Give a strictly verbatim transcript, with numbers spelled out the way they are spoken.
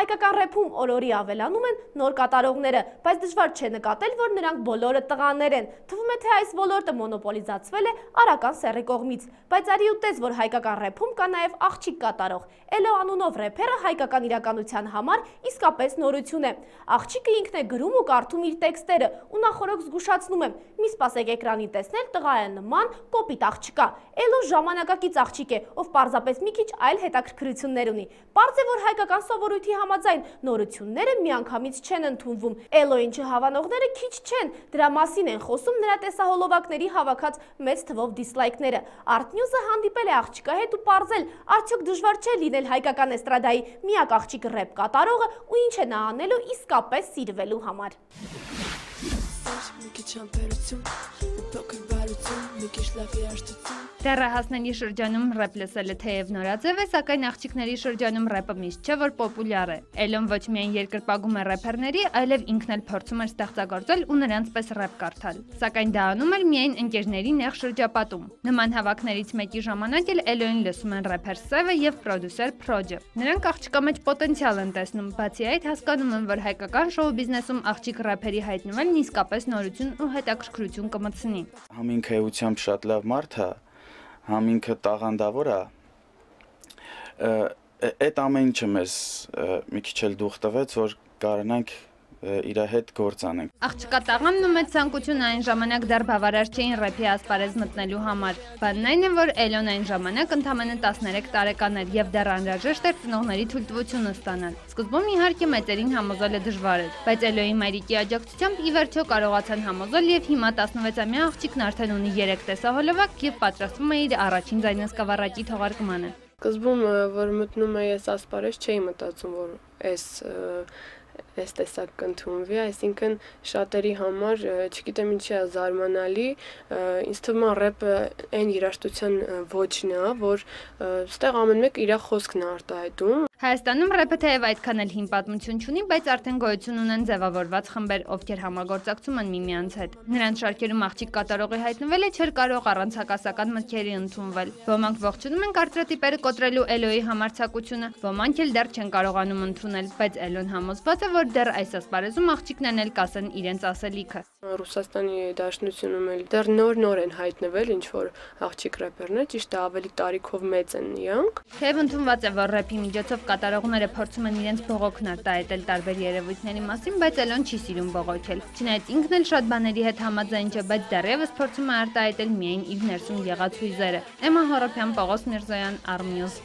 հայկական ռեփում օրորի ավելանում են նոր կատարողները, բայց դժվար չէ նկատել, որ նրանք բոլորը տղաներ են։ Թվում է, թե այս ոլորտը մոնոպոլիզացվել է Արական Սեռի կողմից, բայց արի ու տես, որ հայկական ռեփում կա նաև աղջիկ կատարող։ Էլո անունով ռեփերը հայկական իրականության համար իսկապես նորություն է։ Աղջիկը ինքն է գրում ու կարդում իր տեքստերը, ու նախորոք զգուշացնում եմ, մի սպասեք էկրանին տեսնել տղա է նման կոպիտ աղջկա։ Էլոն ժամանակակից աղջիկ է, ով պարզապես մի քիչ այլ հետաքրքրություններ ունի։ Պարզ է, որ հայկական սովորույթի համաձայն նորությունները միանգամից չեն ընդունվում։ Էլոյին չհավանողները քիչ չեն, դրա մասին են խոսում նրա տեսահոլովակների հավաքած մեծ թվով դիսլայքները։ Artnews-ը հանդիպել է աղջկա հետ ու պարզել, արդյոք դժվար չէ լինել հայկական էստրադայի միակ աղջիկ ռեփ կատարողը ու ինչ է նա անելու իսկապես սիրվելու համար։ Դեռահասների շրջանում ռեփ լսելը թեև նորաձև է, սակայն աղջիկների շրջանում ռեփը միշտ չէ, որ պոպուլյար է։ Էլոն ոչ միայն երկրպագում է ռեփերների, այլև ինքն էլ փորձում էր ստեղծագործել ու նրանց պես ռեփ կարդալ։ Սակայն դա անում էր միայն ընկերների նեղ շրջապատում։ Նման հավաքներից մեկի ժամանակ էլ Էլոին լսում են ռեփեր Սևը եւ պրոդյուսեր Փրոջը։ Նրանք աղջկա մեջ պոտենցիալ են տեսնում, բացի այդ հասկանում են, որ հայկական շոու բիզնեսում աղջիկ ռեփերի հայտնվելն իսկապես նորություն ու հետաքրքրություն կմտցնի։ Համինքը էությամբ շատ լավ մարդ է, համինքը տաղանդավոր է, այդ ամեն ինչը մեզ մի քիչ էլ դուխ տվեց, որ կարողանանք իր հետ գործ անենք։ Աղջկա տաղամն ու մեծ ցանկությունը այն ժամանակ դեռ բավարար չէին ռեփի ասպարեզ մտնելու համար։ Բանն այն է, որ Էլոն այն ժամանակ ընդամենը տասներեք տարեկան էր եւ դեռ անհրաժեշտ էր ծնողների թույլտվությունը ստանալ։ Սկզբում իհարկե մեծերին համոզելը դժվար էր, բայց Էլոյի մայրիկի աջակցությամբ ի վերջո կարողացան համոզել եւ հիմա տասնվեցամյա աղջիկն արդեն ունի երեք տեսահոլովակ եւ պատրաստվում է իր առաջին ձայնասկավառակի թողարկմանը։ Սկզբում, որ մտնում էի այս ասպարեզ, չէի մտածում, որ այս այս տեսակ կընդունվի, այսինքն շատերի համար, չգիտեմ ինչի է զարմանալի, ինձ թվում է ռեփը այն երաժշտության ոճն է, որ ստեղ ամեն մեկ իր խոսքն է արտահայտում։ Հայաստանում ռեփը թեև այդքան էլ հին պատմություն չունի, բայց արդեն գոյություն ունեն ձևավորված խմբեր, ովքեր համագործակցում են միմյանց հետ։ Նրանց շարքերում աղջիկ կատարողի հայտնվելը չէր կարող առանց հակասական մտքերի ընդունվել։ Ոմանք ողջունում են կարծրատիպերը կոտրելու Էլոյի համարձակությունը, ոմանք էլ դեռ չեն կարողանում ընդունել, բայց Էլոն համոզված է, որ դեռ այս ասպարեզում աղջիկներն էլ կասեն իրենց ասելիքը։ Ռուսաստանի Դաշնությունում էլ դեռ նոր-նոր են հայտնվել ինչ-որ աղջիկ ռեփերներ, ճիշտ է ավելի տարիքով մեծ են իրանք։ Թեև ընդունված է, որ ռեփի միջոցով կատարողները փորձում են իրենց բողոքն արտահայտել տարբեր երևույթների մասին, բայց Էլոն չի սիրում բողոքել։ Չնայած ինքն էլ շատ բաների հետ համաձայն չէ, բայց դեռևս փորձում է արտահայտել միայն իր ներսում եղած հույզերը։ Էմմա Հոռոփյան, Պողոս Միրզոյան, Artnews։